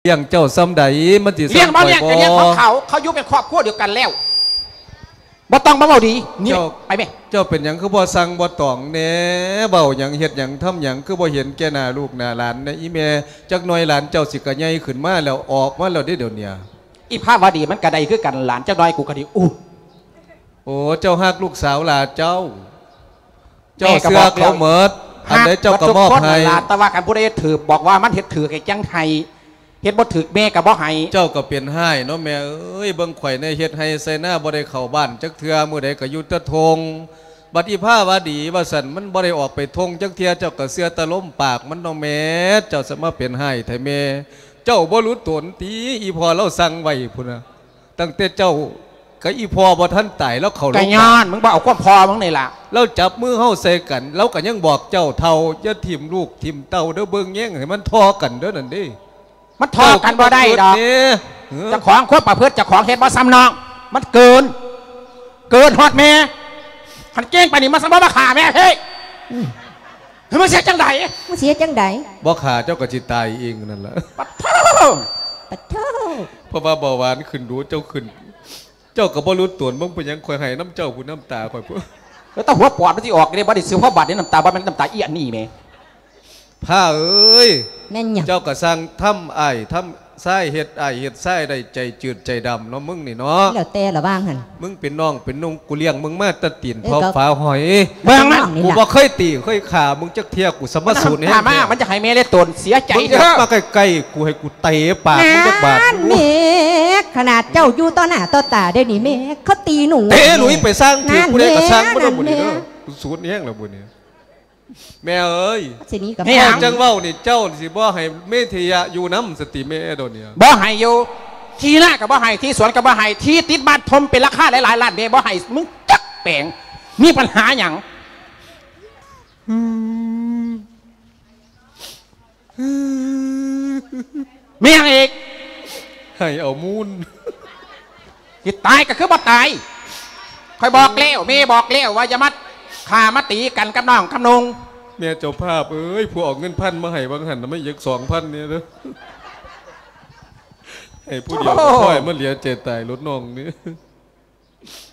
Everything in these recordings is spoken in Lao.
ລ້ຽງເຈົ້າສ່ຳໃດ ມັນຊິສ່ຳຂ້ອຍບໍ່? ລ້ຽງບໍ່ລ້ຽງກໍເລື່ອງຂອງເຂົາ ເຂົາຢູ່ເປັນຄອບຄົວດຽວກັນແລ້ວ ບໍ່ຕ້ອງມາເວົ້າດີ. ນີ້ ເຈົ້າ ໄປແມ່. ເຈົ້າເປັນຫຍັງຄືບໍ່ສັ່ງບໍ່ຕອງແດ່? ເວົ້າຫຍັງເຮັດຫຍັງທຳຫຍັງ ຄືບໍ່ເຫັນແກ່ໜ້າລູກໜ້າຫຼານແດ່ອີ່ແມ່? ຈັກໜ່ອຍຫຼານເຈົ້າຊິກະໃຫຍ່ຂຶ້ນມາແລ້ວ ອອກມາແລ້ວເດ້ດຽວນີ້. ອີພາວະດີມັນກະໄດ້ຄືກັນ ຫຼານຈັກໜ່ອຍກູກະຊິອຸ້ມ. ໂອ້ ເຈົ້າຮັກລູກສາວຫຼ້າເຈົ້າ? ເຈົ້າເຊື່ອເຂົາໝົດ ອັນໃດເຈົ້າກໍມອບໃຫ້. ແມ່ກໍບອກແລ້ວ ຮັກໝົດທຸກຄົນນັ້ນລະ ແຕ່ວ່າຄັນຜູ້ໃດເຮັດຖືກ ບອກວ່າມັນເຮັດຖືກໃຫ້ຈັ່ງໃຫ້ ເຮັດບໍ່ຖືກແມ່ກໍບໍ່ໃຫ້. ເຈົ້າກໍເປັນຮ້າຍເນາະແມ່ເອີຍ ເບິ່ງຂ້ອຍແດ່ ເຮັດໄຮ່ໄຊນາບໍ່ໄດ້ເຂົ້າບ້ານຈັກເທື່ອ ມື້ໃດກໍຢູ່ແຕ່ທົ່ງ. ບັດອີພາວະດີວ່າຊັ້ນ ມັນບໍ່ໄດ້ອອກໄປທົ່ງຈັກເທື່ອ ເຈົ້າກໍເຊື່ອແຕ່ລົມປາກມັນເນາະແມ່. ເຈົ້າສະມາເປັນຮ້າຍແທ້ແມ່ ເຈົ້າບໍ່ຮູ້ຕົນຕິ ອີພໍ່ລາວສັ່ງໄວ້ພຸ້ນນະ. ຕັ້ງແຕ່ເຈົ້າກັບອີພໍ່ບໍ່ທັນຕາຍ ລາວເຂົ້າໂລງບານ ກະຍ້ອນມຶງບໍ່ເອົາຄວາມພໍ່ມຶງນີ້ລະ. ລາວຈັບມືເຮົາໃສ່ກັນ ລາວກະຍັງບອກເຈົ້າ ເຖົ້າ ຢ່າຖິ້ມລູກຖິ້ມເຕົ້າເດີ ເບິ່ງແຍງໃຫ້ມັນທໍ່ກັນເດີ ນັ້ນເດ້. ມັນທໍ່ກັນບໍ່ໄດ້ດອກ ເຈົ້າຄວາມປະພຶດ ເຈົ້າຂອງເຮັດບໍ່ສ່ຳນ້ອງ ມັນເກີນ ເກີນຮອດແມ່. ຄັນເກັ່ງປານນີ້ ມັນຊິບໍ່ມາຂ້າແມ່ເພິ້ຍ. ເຮີ້ຍ ມັນເສຍຈັ່ງໃດ? ມັນເສຍຈັ່ງໃດ? ບໍ່ຂ້າເຈົ້າກໍຊິຕາຍເອງນັ້ນລະ. ປະໂທ້ ປະໂທ້ ເພາະວ່າເບົາຫວານຂຶ້ນດູ ເຈົ້າຂຶ້ນ ເຈົ້າກໍບໍ່ຮູ້ຕົນ ເບິ່ງເປັນຫຍັງຂ້ອຍໄຫ້ນ້ຳເຈົ້າພຸ້ນ ນ້ຳຕາຂ້ອຍພຸ້ນ. ແລ້ວຕາຫົວປອດມັນຊິອອກເດ້ ບໍ່ໄດ້ຊື້ພໍບາດເດ້ ນ້ຳຕາບໍ່ແມ່ນນ້ຳຕາອີອັນນີ້ແໝ. ພ້າເອີຍ ແມ່ນຫຍັງ? ເຈົ້າກໍຊ່າງທຳອ້າຍທຳຊາຍ ເຮັດອ້າຍເຮັດຊາຍໄດ້ໃຈຈືດໃຈດຳເນາະ ມຶງນີ້ເນາະ. ແລ້ວແຕ່ລະວ່າງຫັ້ນ ມຶງເປັນນ້ອງເປັນນຸ່ງ ກູລ້ຽງມຶງມາແຕ່ຕີນເທົ່າຝາຫອຍ. ເບິ່ງມັນ ກູບໍ່ເຄີຍຕີເຄີຍຂ້າມຶງຈັກເທື່ອ ກູສະມາສູນແຮງ. ມັນຈະໃຫ້ແມ່ເລີຍຕົນເສຍໃຈ. ມຶງຢ່າມາໃກ້ໆ ກູໃຫ້ກູເຕະປາກມຶງຈັກບາດ. ແມ່ ຂະໜາດເຈົ້າຢູ່ຕໍ່ໜ້າຕໍ່ຕາເດ້ນີ້ ແມ່ເຂົາຕີໜູ. ເຕະໜູໄປຊ່າງ ຖືກຜູ້ໃດກໍຊ່າງ ບໍ່ໄດ້ບຸນນີ້ເດີ. ສູນແຮງແລ້ວບຸນນີ້. ແມ່ເອີຍ ຊິໜີກັບ ເຈົ້າຈັ່ງເວົ້ານີ້ ເຈົ້າຊິບໍ່ໃຫ້ເມທິຍະຢູ່ນຳສະຕິແມ່ໂດນນີ້. ບໍ່ໃຫ້ຢູ່ ທີ່ນາກໍບໍ່ໃຫ້ ທີ່ສວນກໍບໍ່ໃຫ້ ທີ່ຕິດບ້ານຖົມເປັນລາຄາຫຼາຍໆລ້ານແມ່ບໍ່ໃຫ້ ມຶງຈັກແປງ ມີປັນຫາຫຍັງ? ແມ່ຫຍັງອີກ? ໃຫ້ເອົາມູນ. ຊິຕາຍກໍຄືບໍ່ຕາຍ. ຂ້ອຍບອກແລ້ວ ແມ່ບອກແລ້ວວ່າຢ່າມາຂ້າມາຕີກັນກັບນ້ອງກັບນຸ່ງ. ແມ່ເຈົ້າພາບເອີຍ ຜູ້ເອົາເງິນພັນມາໃຫ້ຫວ່າງຫັ້ນນະ ມາອີກສອງພັນນີ້ເດີ. ໃຫ້ຜູ້ດຽວກໍພໍ ມາເຫຼືອໃຈຕາຍໂລດນ້ອງນີ້.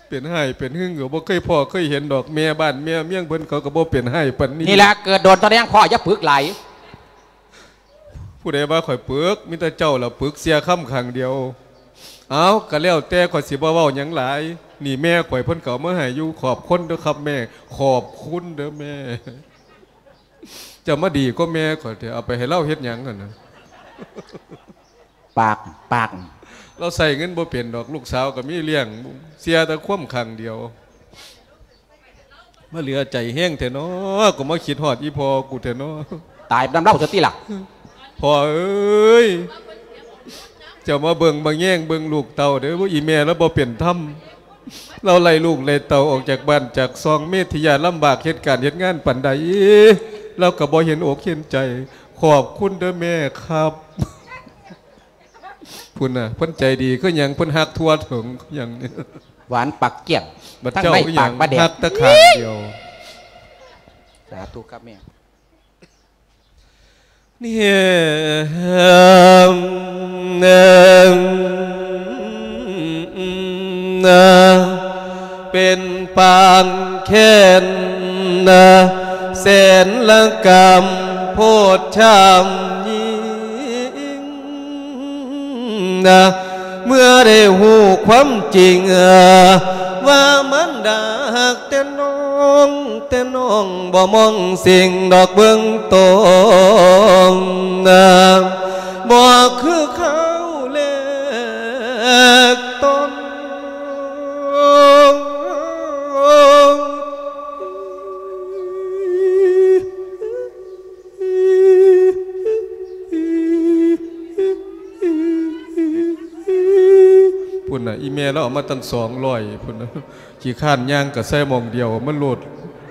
ເປັນຮ້າຍເປັນຫຶງກໍບໍ່ເຄີຍພໍ້ເຄີຍເຫັນດອກ ແມ່ບ້ານແມ່ເມືອງເພິ່ນເຂົາກໍບໍ່ເປັນຮ້າຍປານນີ້. ນີ້ລະເກີດໂດນຕອນແດງພໍ້ ຢ່າປຶກຫຼາຍ. ຜູ້ໃດວ່າຂ້ອຍປຶກ? ມີແຕ່ເຈົ້າລະປຶກ ເສຍຄຳຂ້າງດຽວ. ເອົ້າ ກໍແລ້ວແຕ່ ຂ້ອຍຊິບໍ່ເວົ້າຫຍັງຫຼາຍ. ນີ້ແມ່ຂ້ອຍເພິ່ນກໍເອົາມາໃຫ້ຢູ່ ຂອບຄຸນເດີຄັບແມ່. ຂອບຄຸນເດີແມ່. ເຈົ້າມາດີກວ່າແມ່ຂ້ອຍແທ້ ເອົາໄປໃຫ້ລາວເຮັດຫຍັງຫັ້ນນະ? ປາກ ປາກ ລາວໃຊ້ເງິນບໍ່ເປັນດອກ ລູກສາວກໍມີລ້ຽງ ເສຍແຕ່ຄວາມຂ້າງດຽວ. ມາເຫຼືອໃຈແຮງແທ້ເນາະ ກໍມາຄິດຮອດອີ່ພໍ່ກູແທ້ເນາະ. ຕາຍນຳລາວຊະຕິລະ. ພໍ່ເອີຍ ເຈົ້າມາເບິ່ງມາແຍງເບິ່ງລູກເຕົ້າເດີ ອີ່ແມ່ລາວບໍ່ເປັນທຳ. ລາວໄລ່ລູກໄລ່ເຕົ້າອອກຈາກບ້ານຈາກຊ່ອງ ເມທິຍາລຳບາກເຮັດການເຮັດງານປານໃດ ລາວກໍບໍ່ເຫັນອົກເຫັນໃຈ. ຂອບຄຸນເດີແມ່ຄັບ. ພຸ້ນນະ ເພິ່ນໃຈດີຄືຫຍັງ ເພິ່ນຮັກທົ່ວເຖິງຄືຫຍັງ. ຫວານປາກກ້ຽງ ບັດເຈົ້າອີ່ຫຍັງ ທັງໃນປາກປາແດກ ຮັກແຕ່ຂ້າງດຽວ. ສາທຸຄັບແມ່. ເປັນປານແຄ້ນ ແສນລະກຳໂພດຊຳຍິງ ເມື່ອໄດ້ຮູ້ຄວາມຈິງ ວ່າມານດາຮັກແຕ່ນ້ອງ ແຕ່ນ້ອງບໍ່ມອງສິ່ງດອກເບິ່ງຕົນ ບໍ່ຄືຄາວແລກຕອນ. ພຸ້ນນະ ອີ່ແມ່ລາວເອົາມາຕັ້ງສອງຮ້ອຍພຸ້ນນະ. ຂີ້ຄ້ານຍ່າງກະໃສ່ໝ່ອງດຽວມັນໂລດ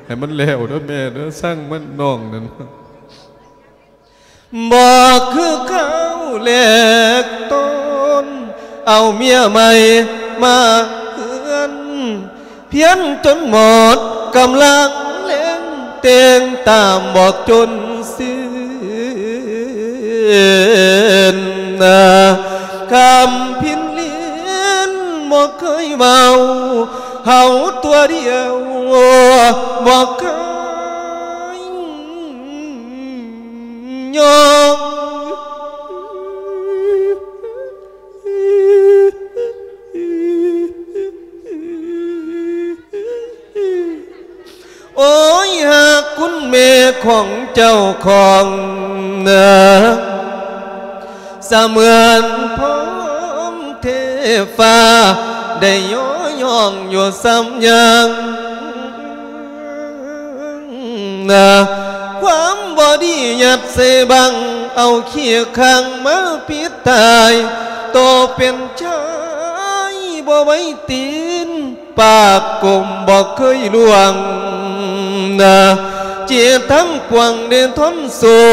ໃຫ້ມັນແລ້ວເດີແມ່ເດີ ຊ່າງມັນນ້ອງນັ້ນ. ບໍ່ຄືຄາວແລກຕອນ ເອົາເມຍໃໝ່ມາເຮືອນ ພຽນຈົນໝົດກຳລັງແຮງ ແຕ່ງຕາມບອກຈົນສິ້ນ. ນະ ຄຳພິນລິນບໍ່ເຄີຍເວົ້າ ເຮົາຕົວດຽວບໍ່ເຄີຍຍອມ. ໂອ້ຍ ຫາກຄຸນແມ່ຂອງເຈົ້າຂອງນາ ສະເໝືອນພ້ອມເທຟ້າ ໄດ້ຍໍຍ້ອງຢູ່ສ່ຳຍັງ ນາ ຄວາມບໍ່ດີຍັດໃສ່ບັງ ເອົາຂີ້ຂ້າງມາປິດຕາຍ ໂຕເປັນຊາຍບໍ່ໄວ້ຕີນ ປາກກົມບໍ່ເຄີຍລ່ວງນາ ຈິດທັງປວງໄດ້ທົນສູ້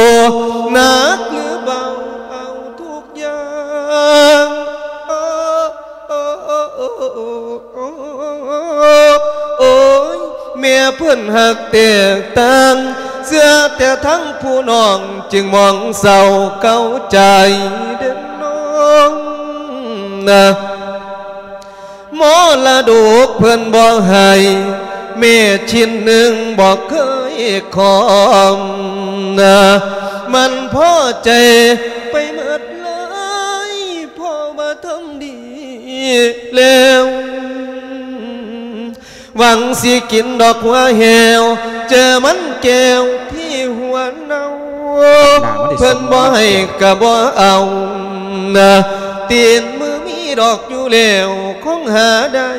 ໜັກຫຼືເບົາເອົາທຸກຢ່າງ ໂອ້ຍ ແມ່ເພິ່ນຮັກແຕກຕ່າງ ເຊື່ອແຕ່ທັງຜູ້ນ້ອງ ຈຶ່ງມອງເສົ້າເກົ້າໃຈເດີນ້ອງນາ. ມໍລະດົກເພິ່ນບໍ່ໃຫ້ ແມ່ຊິ້ນໜຶ່ງບໍ່ເຄີຍຂອງນາ ມັນພໍໃຈໄປໝົດເລີຍ ເພາະວ່າທຳດີແລ້ວ ຫວັງຊິກິນດອກຫົວແຫ້ວ ເຈີມັນແກ້ວທີ່ຫົວເນົ່າ ເພິ່ນບໍ່ໃຫ້ກະບໍ່ເອົານະ ຕີນມືມີດອກຢູ່ແລ້ວ ຄົງຫາໄດ້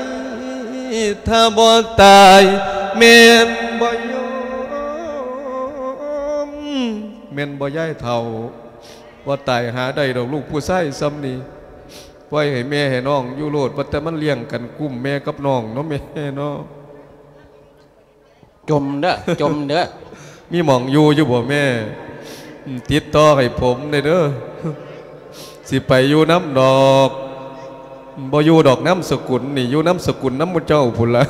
ຖ້າບໍ່ຕາຍ ແມ່ນບໍ່ຍອມ ແມ່ນບໍ່ຍາຍເຖົ້າ ບໍ່ຕາຍຫາໄດ້ດອກ ລູກຜູ້ຊາຍຊ່ຳນີ້ ປ່ອຍໃຫ້ແມ່ໃຫ້ນ້ອງຢູ່ໂລດ ວ່າແຕ່ມັນລ້ຽງກັນກຸ້ມແມ່ກັບນ້ອງເນາະ ແມ່ເນາະ. ຈົ່ມເດີ ຈົ່ມເດີ ມີໝ່ອງຢູ່ຢູ່ບໍ່ແມ່? ອືມ ຕິດຕໍ່ໃຫ້ຜົມແດ່ເດີ ຊິໄປຢູ່ນຳດອກ ບໍ່ຢູ່ດອກນາມສະກຸນນີ້ ຢູ່ນາມສະກຸນນຳໝູ່ເຈົ້າພຸ້ນລະ.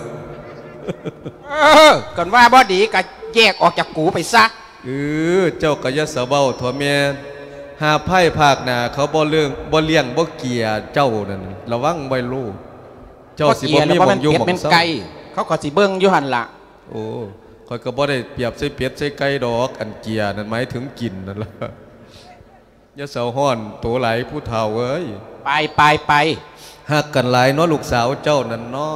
ເອີ ຄັນວ່າບໍ່ດີກໍແຍກອອກຈາກກູໄປຊະ. ເອີ ເຈົ້າກໍຢ່າສະເວົ້າເຖາະແມ່ ຫາພາຍພາກໜ້າເຂົາບໍ່ເລີງ ບໍ່ລ້ຽງບໍ່ເກຍເຈົ້ານັ້ນ ລະວັງໄວ້ໂລດ ເຈົ້າຊິບໍ່ມີໝ່ອງຢູ່ໝ່ອງເຊົາ. ເຂົາກໍຊິເບິ່ງຢູ່ຫັ້ນລະ. ໂອ້ ຂ້ອຍກໍບໍ່ໄດ້ປຽບໃສ່ເປັດໃສ່ໄກ່ດອກ ອັນເກຍນັ້ນໝາຍເຖິງກິນນັ້ນລະ. ຢ່າເຊົາຮ້ອນໂຕຫຼາຍຜູ້ເຖົ້າເອີຍ. ໄປ ໄປ ໄປ. ຮັກກັນຫຼາຍເນາະ ລູກສາວເຈົ້ານັ້ນເນາະ.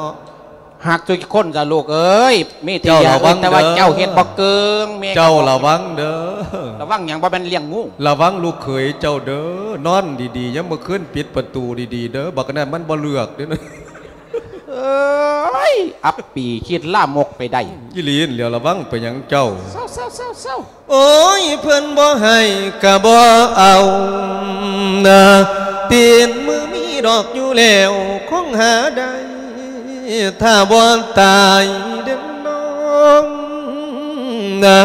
ຮັກທຸກຄົນຊະລູກເອີຍ ມີແຕ່ຢ່າເອີຍ ແຕ່ວ່າເຈົ້າເຮັດບໍ່ເກີງ ແມ່ເຈົ້າລະວັງເດີ. ລະວັງຫຍັງ? ບໍ່ແມ່ນລ້ຽງງູ. ລະວັງລູກເຂີຍເຈົ້າເດີ ນອນດີໆ ຍາມມື້ຄືນປິດປະຕູດີໆເດີ ບັກນັ້ນມັນບໍ່ເລືອກເດ້. ເອີຍ ອັບປີຄິດລາມົກໄປໄດ້. ອີ່ຫຼີຫັ້ນແຫຼ້ວ ລະວັງໄປຫຍັງເຈົ້າ. ເຊົາ ເຊົາ ເຊົາ ເຊົາ. ໂອ້ຍ ເພິ່ນບໍ່ໃຫ້ກະບໍ່ເອົານະ ຕີນມືມີດອກຢູ່ແລ້ວ ຄົງຫາໄດ້ ຖ້າບໍ່ຕາຍເດີນ້ອງນະ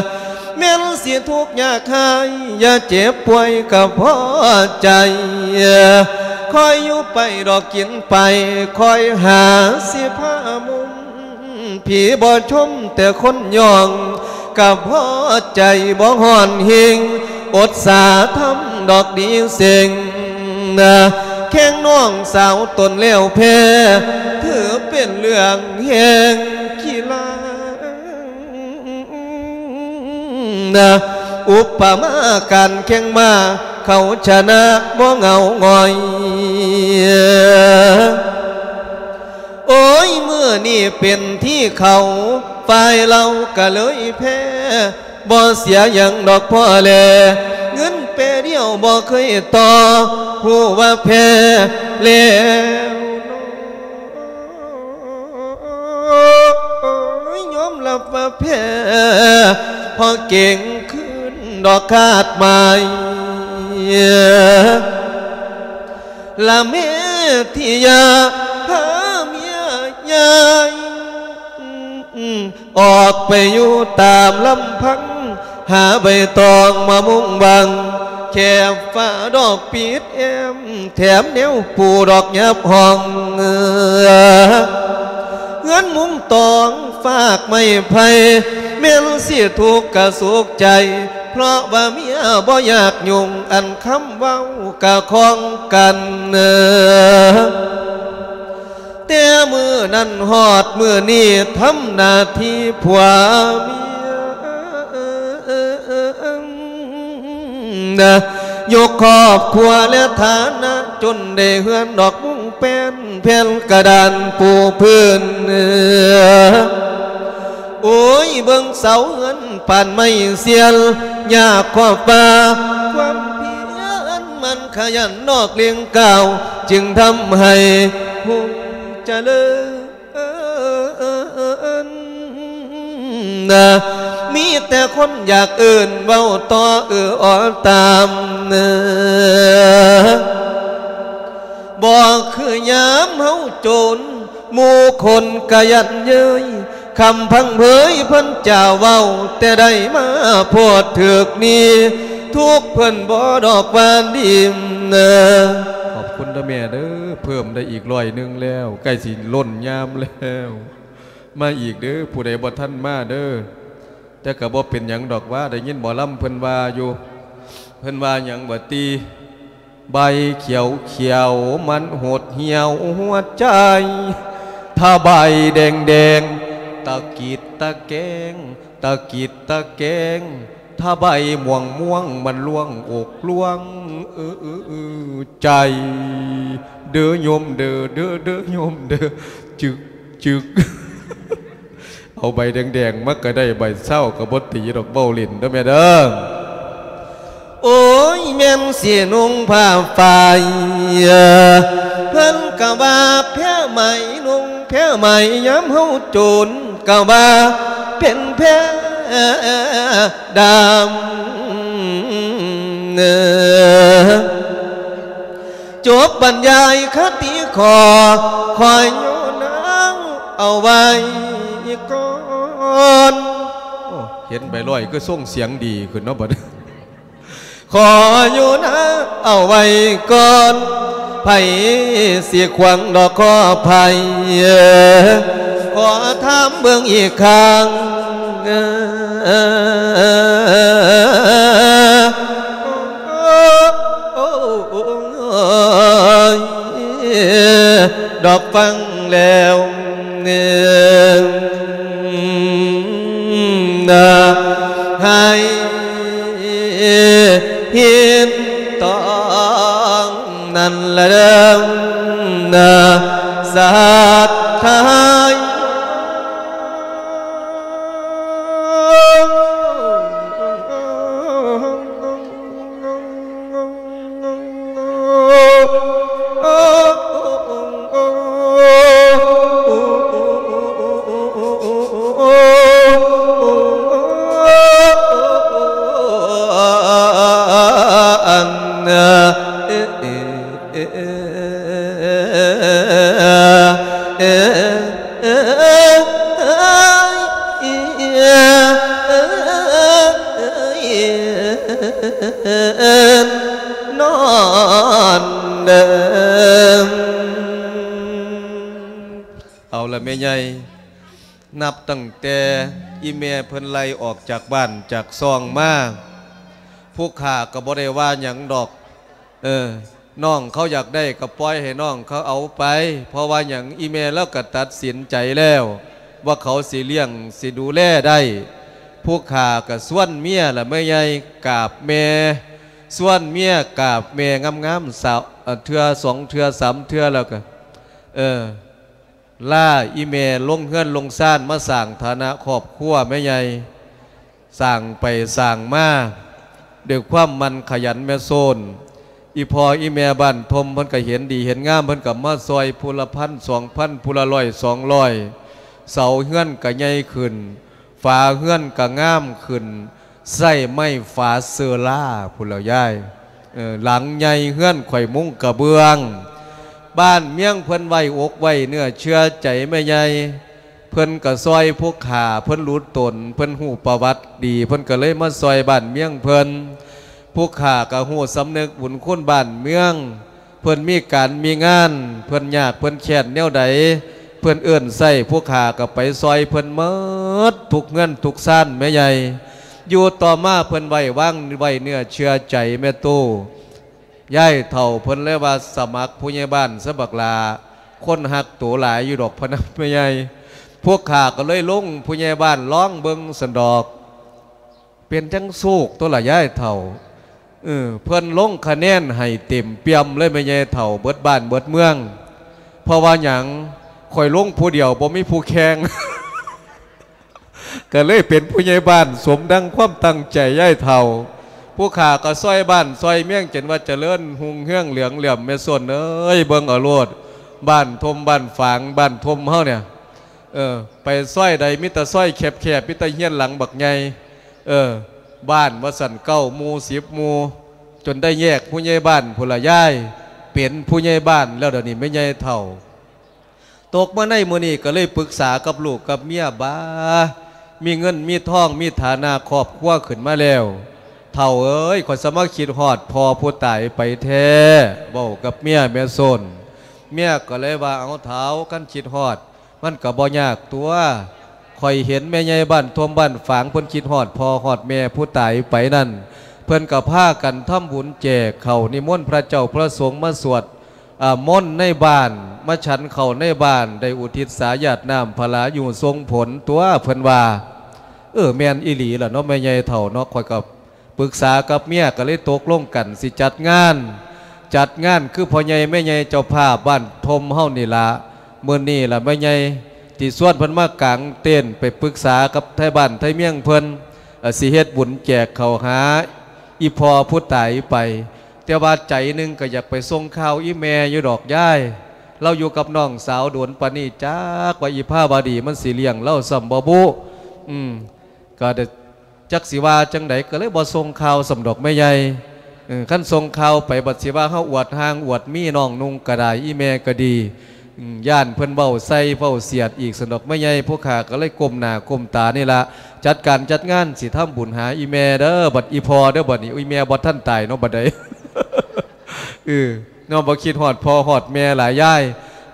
ແມ່ນຊິທຸກຍາກຮ້າຍ ຢ່າເຈັບປ່ວຍກະພໍໃຈ ຄອຍຢູ່ໄປດອກກິນໄປ ຄອຍຫາຊິພາມຸມ ຜີບໍ່ຊົມແຕ່ຄົນຍ້ອງ ກະພໍໃຈບໍ່ຮ້ອນເຮງ ອົດສາທຳດອກດີເສັງ ແຂ່ງນ້ອງສາວຕົນແລ້ວແພ້ ຖືເປັນເລື່ອງແຮງຂີ້ລາ ນະ ອຸປະມາການແຂ່ງມ້າ ເຂົາຊະນະບໍ່ເຫງົາຫງອຍ. ໂອ້ຍ ມື້ນີ້ເປັນທີ່ເຂົາ ຝ່າຍເຮົາກະເລີຍແພ້ ບໍ່ເສຍຫຍັງດອກພໍ່ແລ ເງິນແປດຽວບໍ່ເຄີຍຕໍ່ ຮູ້ວ່າແພ້ແລ້ວ ຍອມຮັບວ່າແພ້ ເພາະເກັ່ງຄືນດອກຄາດໝາຍ ລະແມ່ທີ່ຢາກພາເມຍຍ້າຍ ອອກໄປຢູ່ຕາມລຳພັງ ຫາໃບຕອງມາມຸງບັງ ແຄບຝາດອກປິດແອ້ມ ແຖມແນວປູດອກຫຍັບຫ້ອງ ເຮືອນມຸງຕອງຟາກໄມ້ໄຜ່ ແມ່ນຊິທຸກກະສຸກໃຈ ເພາະວ່າເມຍບໍ່ຢາກຫຍຸ້ງ ອັນຄຳເວົ້າກະຂອງກັນ ແຕ່ມື້ນັ້ນຮອດມື້ນີ້ ທຳໜ້າທີ່ຜົວເມຍ ຍົກຄອບຄົວແລະຖານະ ຈົນໄດ້ເຮືອນດອກມຸງແປ້ນ ແຜ່ນກະດານປູພື້ນ. ໂອ້ຍ ເບິ່ງເສົາເຮືອນປານໄມ້ເຊຍນ ຍາກຄວາມວ່າຄວາມພຽນ ມັນຂະຫຍັນນອກເລັ່ງກ້າວ ຈຶ່ງທຳໃຫ້ຮຸ່ງຈະເລີນ. ມີແຕ່ຄົນຢາກເອີ້ນເວົ້າຕໍ່ເອື້ອອອຕາມ ບໍ່ຄືຍາມເຮົາໂຈນ ໝູ່ຄົນກະຢັນເຍີ້ຍ ຄຳພັງເຜີຍເພິ່ນຈາເວົ້າ ແຕ່ໄດ້ມາໂພດຖືກນີ້ ທຸກເພິ່ນບໍ່ດອກວ່າດີ. ຂອບຄຸນເດີແມ່ເດີ ເພີ່ມໄດ້ອີກຮ້ອຍໜຶ່ງແລ້ວ ໃກ້ຊິລົ້ນຍາມແລ້ວ ມາອີກເດີ ຜູ້ໃດບໍ່ທັນມາເດີ. ແຕ່ກະບໍ່ເປັນຫຍັງດອກວ່າ ໄດ້ຍິນໝໍລຳເພິ່ນວ່າຢູ່ ເພິ່ນວ່າຫຍັງຫວາຕິ ໃບຂຽວຂຽວມັນຫົດຫ່ຽວຫົວໃຈ ຖ້າໃບແດງແດງ ຕະກິດຕະແກງ ຕະກິດຕະແກງ ຖ້າໃບມ່ວງມ່ວງ ມັນລ່ວງອົກລ່ວງ ເອີ ໃຈ ເດີໂຍມເດີ ເດີ ເດີໂຍມເດີ ຈຶກ ຈຶກ. ເອົາໃບແດງໆ ມາກະໄດ້ ໃບເຊົາກະບໍ່ຕີດອກ ເວົ້າຫຼິ້ນເດີແມ່ເດີ. ໂອ້ຍ ແມ່ນຊິນຸ່ງຜ້າຝ້າຍ ເພິ່ນກະວ່າແພໄໝ ນຸ່ງແພໄໝ ຍາມເຮົາໂຈນກະວ່າເປັນແພດຳ. ຈົບບັນຍາຍຄະຕິຂໍ ຂໍຢູ່ນາເອົາໄວ້ກ່ອນ. ໂອ້ ເຫັນໃບລອຍຄືສົ່ງສຽງດີຂຶ້ນເນາະບັດນີ້. ຂໍຢູ່ນາເອົາໄວ້ກ່ອນ ໃຜຊິຂວາງດອກຂໍໃຜ ຂໍຖາມເບິ່ງອີກຄັ້ງ. ໂອ້ຍ ດອກຟັງແລ້ວ ໃຫ້ເຫັນຕ້ອງນັ້ນລະເດີ ສັດທາ. ອັນ ເອີ ເອີ ເອີ ເອີ ເອີ ເອີ ເອີ ເອີ ນອນເດີ. ເອົາລະແມ່ໃຫຍ່ ນັບຕັ້ງແຕ່ອີ່ແມ່ເພິ່ນໄລ່ອອກຈາກບ້ານຈາກຊ່ອງມາ ຜູ້ຂ້າກໍບໍ່ໄດ້ວ່າຫຍັງດອກ. ເອີ ນ້ອງເຂົາຢາກໄດ້ກໍປ່ອຍໃຫ້ນ້ອງເຂົາເອົາໄປ ເພາະວ່າຫຍັງ ອີ່ແມ່ລາວກໍຕັດສິນໃຈແລ້ວ ວ່າເຂົາຊິລ້ຽງ ຊິດູແລໄດ້. ຜູ້ຂ້າກໍຊວນເມຍລະແມ່ໃຫຍ່ກາບແມ່ ຊວນເມຍກາບແມ່ງາມໆ ສາວ ເທື່ອສອງເທື່ອສາມເທື່ອແລ້ວກໍ ເອີ ລາອີ່ແມ່ລົງເຮືອນລົງຊານ ມາສ້າງຖານະຄອບຄົວແມ່ໃຫຍ່ ສ້າງໄປສ້າງມາ ດ້ວຍຄວາມໝັ່ນຂະຫຍັນແມ່ໂຊນ. ອີ່ພໍ່ອີ່ແມ່ບ້ານທົ່ມເພິ່ນກໍເຫັນດີເຫັນງາມ ເພິ່ນກໍມາຊ່ອຍຜູ້ລະພັນສອງພັນ ຜູ້ລະຮ້ອຍສອງຮ້ອຍ ເສົາເຮືອນກໍໃຫຍ່ຂຶ້ນ ຝາເຮືອນກະງາມຂຶ້ນ ໃຊ້ໄມ້ຝາເຊີລາພຸ້ນແຫຼ້ວຍາຍ. ເອີ ຫຼັງໃຫຍ່ເຮືອນຂ້ອຍມຸງກະເບື້ອງ ບ້ານເມືອງເພິ່ນໄວ້ອົກໄວ້ເນື້ອເຊື່ອໃຈແມ່ໃຫຍ່ ເພິ່ນກະຊ່ອຍພວກຂ້າ ເພິ່ນຮູ້ຕົນ ເພິ່ນຮູ້ປະຫວັດດີ ເພິ່ນກະເລີຍມາຊ່ອຍບ້ານເມືອງເພິ່ນ. ພວກຂ້າກະຮູ້ສຳນຶກບຸນຄຸນບ້ານເມືອງ ເພິ່ນມີການມີງານ ເພິ່ນຍາກເພິ່ນແຄ້ນແນວໃດ ເພິ່ນເອີ້ນໃຊ້ ພວກຂ້າກໍໄປຊ່ອຍເພິ່ນໝົດ ທຸກເຮືອນທຸກຊານແມ່ໃຫຍ່. ຢູ່ຕໍ່ມາເພິ່ນໄວ້ວາງໄວ້ເນື້ອເຊື່ອໃຈແມ່ຕູ້ ຍາຍເຖົ້າເພິ່ນເລີຍວ່າ ສະໝັກຜູ້ໃຫຍ່ບ້ານຊະບັກຫຼ້າ ຄົນຮັກໂຕຫຼາຍຢູ່ດອກ ພະນະແມ່ໃຫຍ່. ພວກຂ້າກໍເລີຍລົງຜູ້ໃຫຍ່ບ້ານລອງເບິ່ງຊັ້ນດອກ. ເປັນຈັ່ງໂຊກຕົວລະຍາຍເຖົ້າ. ເອີ ເພິ່ນລົງຄະແນນໃຫ້ເຕັມປ່ຽມເລີຍແມ່ໃຫຍ່ເຖົ້າ ເບິດບ້ານເບິດເມືອງ. ເພາະວ່າຫຍັງ? ຂ້ອຍລົງຜູ້ດຽວ ບໍ່ມີຜູ້ແຂ່ງ ກໍເລີຍເປັນຜູ້ໃຫຍ່ບ້ານສົມດັ່ງຄວາມຕັ້ງໃຈຍາຍເຖົ້າ. ຜູ້ຂ້າກໍຊ່ອຍບ້ານຊ່ອຍເມືອງ ຈົນວ່າຈະເລີນຮຸ່ງເຮືອງເຫຼືອງເຫຼື້ອມ. ແມ່ສົນເອີຍ ເບິ່ງເອົາໂລດ ບ້ານທົ່ມບ້ານຝາງ ບ້ານທົ່ມເຮົານີ້ ເອີ ໄປຊອຍໃດມີແຕ່ຊອຍແຄບໆ ມີແຕ່ເຮືອນຫຼັງບັກໃຫຍ່ ເອີ ບ້ານວ່າຊັ້ນ ເກົ້າໝູ່ສິບໝູ່ ຈົນໄດ້ແຍກຜູ້ໃຫຍ່ບ້ານພຸ້ນລະຍາຍ. ເປັນຜູ້ໃຫຍ່ບ້ານແລ້ວດຽວນີ້ແມ່ໃຫຍ່ເຖົ້າ. ຕົກມາໃນມື້ນີ້ກໍເລີຍປຶກສາກັບລູກກັບເມຍ ບາ ມີເງິນມີທອງ ມີຖານະຄອບຄົວຂຶ້ນມາແລ້ວ ເຖົ້າເອີຍ ຂ້ອຍສະມາຄິດຮອດພໍ່ຜູ້ຕາຍໄປແທ້. ເວົ້າກັບເມຍແມ່ສົນ ເມຍກໍເລີຍວ່າ ເອົາເຖົ້າ ຄັນຄິດຮອດ ມັນກໍບໍ່ຍາກຕົວະ. ຂ້ອຍເຫັນແມ່ໃຫຍ່ບ້ານທົ່ມບ້ານຝາງ ເພິ່ນຄິດຮອດພໍ່ຮອດແມ່ຜູ້ຕາຍໄປນັ້ນ ເພິ່ນກໍພາກັນທຳບຸນແຈກເຂົ້າ ນິມົນພະເຈົ້າພະສົງມາສວດ ອາ ມົນໃນບ້ານ ມາສັນເຂົ້າໃນບ້ານ ໄດ້ອຸທິດສາຢາດນ້ຳພະລາຢູ່ສົ່ງຜົນຕົວະ ເພິ່ນວ່າ. ເອີ ແມ່ນອີ່ຫຼີລະເນາະ ແມ່ໃຫຍ່ເຖົ້າເນາະ ຂ້ອຍກໍ ປຶກສາກັບເມຍກໍເລີຍຕົກລົງກັນຊິຈັດງານ ຈັດງານຄືພໍ່ໃຫຍ່ແມ່ໃຫຍ່ເຈົ້າພາບບ້ານທົ່ມເຮົານີ້ລະ. ມື້ນີ້ລະແມ່ໃຫຍ່ຊິຊວນເພິ່ນມາກາງເຕັນ ໄປປຶກສາກັບໄທບ້ານໄທເມືອງເພິ່ນ ເອີ ຊິເຮັດບຸນແຈກເຂົ້າຫາອີ່ພໍ່ຜູ້ຕາຍໄປ. ແຕ່ວ່າໃຈໜຶ່ງກໍຢາກໄປສົ່ງຂ່າວອີ່ແມ່ຢູ່ດອກຍາຍ ລາວຢູ່ກັບນ້ອງສາວດົນປານນີ້ ຈັກວ່າອີ່ພາວະດີມັນຊິລ້ຽງລາວຊ້ຳບໍ່ບຸ. ອືມ ກໍໄດ້ ຈັກຊິວ່າຈັ່ງໃດ ກໍເລີຍບໍ່ສົ່ງຂ່າວຊ້ຳດອກແມ່ໃຫຍ່. ເອີ ຄັນສົ່ງຂ່າວໄປບັດຊິວ່າເຮົາອວດຮ່າງອວດມີ ນ້ອງນຸ່ງກໍໄດ້ ອີ່ແມ່ກໍດີ ອືມ ຢ້ານເພິ່ນເວົ້າໃສ່ເວົ້າສຽດອີກຊັ້ນດອກແມ່ໃຫຍ່. ພວກຂ້າກໍເລີຍກົ້ມໜ້າກົ້ມຕານີ້ລະ ຈັດການຈັດງານ ຊິທຳບຸນຫາອີ່ແມ່ເດີ ບັດອີ່ພໍ່ເດີ ບັດນີ້ ອີ່ແມ່ບໍ່ທັນຕາຍເນາະ ບັດໃດ ເອີ ເນາະ ບໍ່ຄິດຮອດພໍ່ຮອດແມ່ຫຼາຍຍາຍ.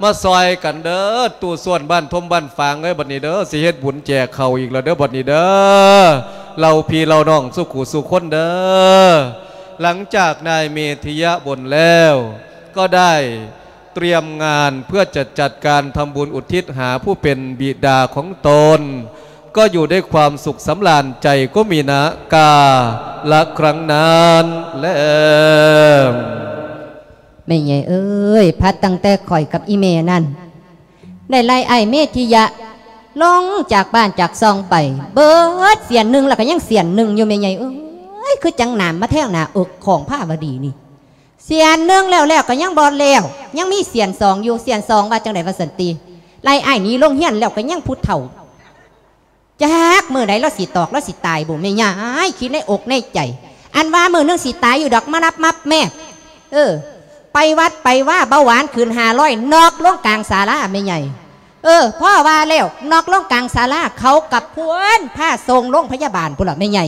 ມາຊ່ອຍກັນເດີ ຕູ້ສ່ວນບ້ານທົ່ມບ້ານຝາງເອີຍ ບັດນີ້ເດີ ຊິເຮັດບຸນແຈກເຂົ້າອີກແລ້ວເດີ ບັດນີ້ເດີ ເຫຼົ່າພີ່ເຫຼົ່ານ້ອງສູ່ຄູ່ສູ່ຄົນເດີ. ຫຼັງຈາກນາຍເມທິຍະບົນແລ້ວ ກໍໄດ້ຕຽມງານເພື່ອຈະຈັດການທຳບຸນອຸທິດຫາຜູ້ເປັນບິດາຂອງຕົນ ກໍຢູ່ດ້ວຍຄວາມສຸກສຳລານໃຈ ກໍມີນາກາລະຄັ້ງນັ້ນແລ. ແມ່ໃຫຍ່ເອີຍ ພັດຕັ້ງແຕ່ຂ້ອຍກັບອີ່ແມ່ນັ້ນ ໄດ້ໄລ່ອ້າຍເມທິຍະລົງຈາກບ້ານຈາກຊ່ອງໄປ ເບິດສຽນໜຶ່ງ ແລ້ວກໍຍັງສຽນໜຶ່ງຢູ່ ແມ່ໃຫຍ່ເອີຍ. ຄືຈັ່ງໜາມມາແທງໜ້າອົກຂອງພາວະດີນີ້ ສຽນໜຶ່ງແລ້ວໆ ກໍຍັງບໍ່ແລ້ວ ຍັງມີສຽນສອງຢູ່. ສຽນສອງວ່າຈັ່ງໃດວ່າຊັ້ນຕິ ໄລ່ອ້າຍໜີໂຮງຮຽນແລ້ວ ກໍຍັງຜູ້ເຖົ້າ ຈັກມື້ໃດລາວຊິຕອກ ລາວຊິຕາຍບຸ ແມ່ຍາຍ ຄິດໃນອົກໃນໃຈ ອັນວ່າມື້ໜຶ່ງຊິຕາຍຢູ່ດອກ ມານັບມັບແມບ ເອີ ໄປວັດໄປວາ ເບົາຫວານຂຶ້ນຫ້າຮ້ອຍ ນອກລົງກາງສາລາແມ່ໃຫຍ່. ເອີ ພໍວ່າແລ້ວ ນອກລົງກາງສາລາ ເຂົາກັບພວນພາສົ່ງໂລງພະຍາບານພຸ້ນລະແມ່ໃຫຍ່.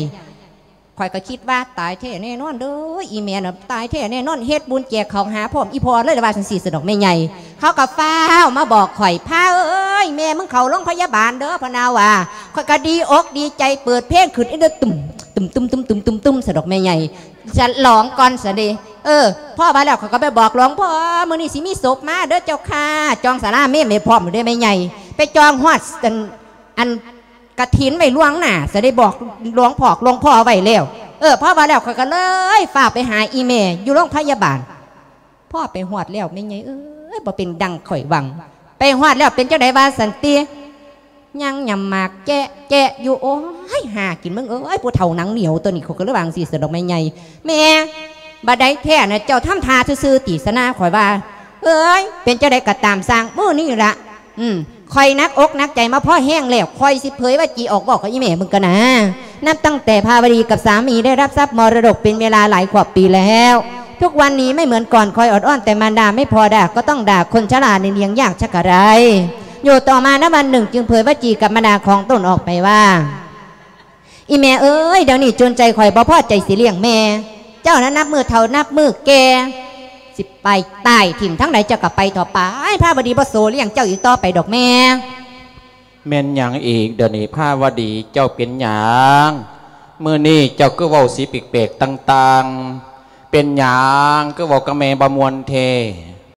ຂ້ອຍກໍຄິດວ່າຕາຍແທ້ແນ່ນອນເດີ ອີ່ແມ່ນະ ຕາຍແທ້ແນ່ນອນ ເຮັດບຸນແຈກເຂົ້າຫາພ້ອມອີ່ພໍ່ເລີຍ ວ່າຈັ່ງຊີ້ຊັ້ນດອກແມ່ໃຫຍ່. ເຂົາກໍຟ້າວມາບອກຂ້ອຍ ພາເອີຍ ແມ່ມຶງເຂົ້າໂລງພະຍາບານເດີ ພະນາວ່າ. ຂ້ອຍກໍດີອົກດີໃຈ ເປີດເພງຂຶ້ນ ເອີ ຕຶມ ຕຶມ ຕຶມ ຕຶມ ຕຶມ ຕຶມ ຊັ້ນດອກແມ່ໃຫຍ່ ສະຫຼອງກ່ອນຊັ້ນເດ. ເອີ ພໍວ່າແລ້ວ ຂ້ອຍກໍໄປບອກຫຼວງພໍ່ ມື້ນີ້ຊິມີສົບມາເດີເຈົ້າຂ້າ ຈອງສາລາເມໄວ້ພ້ອມເດີແມ່ໃຫຍ່. ໄປຈອງຮອດອັນ ອັນ ກະຖິນໄວ້ລ່ວງໜ້າ ຈະໄດ້ບອກຫຼວງພໍ່ ຫຼວງພໍ່ໄວ້ແລ້ວ. ເອີ ພໍວ່າແລ້ວ ຂ້ອຍກໍເລີຍຟ້າວໄປຫາອີ່ແມ່ຢູ່ໂລງພະຍາບານ. ພໍໄປຮອດແລ້ວ ແມ່ໃຫຍ່ເອີຍ ບໍ່ເປັນດັ່ງຂ້ອຍຫວັງ. ໄປຮອດແລ້ວເປັນຈັ່ງໃດວ່າຊັ້ນຕິ ຍັງຫຍ້ຳໝາກແຈະແຈະຢູ່. ໂອ້ຍ ຫາກິນມຶງເອີຍ ຜູ້ເຖົ້າໜັງໜຽວຕົວນີ້ ຂ້ອຍກໍເລີຍວ່າຈັ່ງຊີ້ຊັ້ນດອກແມ່ໃຫຍ່. ແມ່ ບັດໃດແທ້ນະ ເຈົ້າທຳທ່າຊື່ໆຕິ ຊະນາ ຂ້ອຍວ່າ. ເອີຍ ເປັນຈັ່ງໃດກໍຕາມຊ່າງ ມື້ນີ້ລະ ອືມ ຂ້ອຍໜັກອົກໜັກໃຈມາພໍແຮງແລ້ວ ຂ້ອຍຊິເຜີຍວາຈີອອກເວົ້າກັບອີ່ແມ່ມຶງກ່ອນນາ. ນັບຕັ້ງແຕ່ພາວະດີກັບສາມີໄດ້ຮັບຊັບມໍລະດົກເປັນເວລາຫຼາຍຄວບປີແລ້ວ ທຸກວັນນີ້ໄມ່ເໝືອນກ່ອນ ຄອຍອອດອ້ອນແຕ່ມານດາ ໄມ່ພໍດາກໍຕ້ອງດ່າ ຄົນຊະລານີ້ລ້ຽງຍາກສັກກະໃດ. ຢູ່ຕໍ່ມາໃນວັນໜຶ່ງຈຶ່ງເຜີຍວາຈີກັບມານດາຂອງຕົນອອກໄປວ່າ ອີ່ແມ່ເອີຍ ດຽວນີ້ຈົນໃຈ ຂ້ອຍບໍ່ພໍໃຈຊິລ້ຽງແມ່ ເຈົ້ານັ້ນນັບມື້ເຖົ້ານັບມື້ແກ່ ໄປຕາຍຖິ້ມທາງໃດເຈົ້າກໍໄປເຖາະ ໄປ ພາວະດີບໍ່ໂສລ້ຽງເຈົ້າອີກຕໍ່ໄປດອກແມ່. ແມ່ນຫຍັງອີກດຽວນີ້ພາວະດີ ເຈົ້າເປັນຫຍັງ? ມື້ນີ້ເຈົ້າຄືເວົ້າສີແປກໆຕ່າງໆ ເປັນຫຍັງຄືເວົ້າກັບແມ່ບໍ່ມ່ວນແທ້?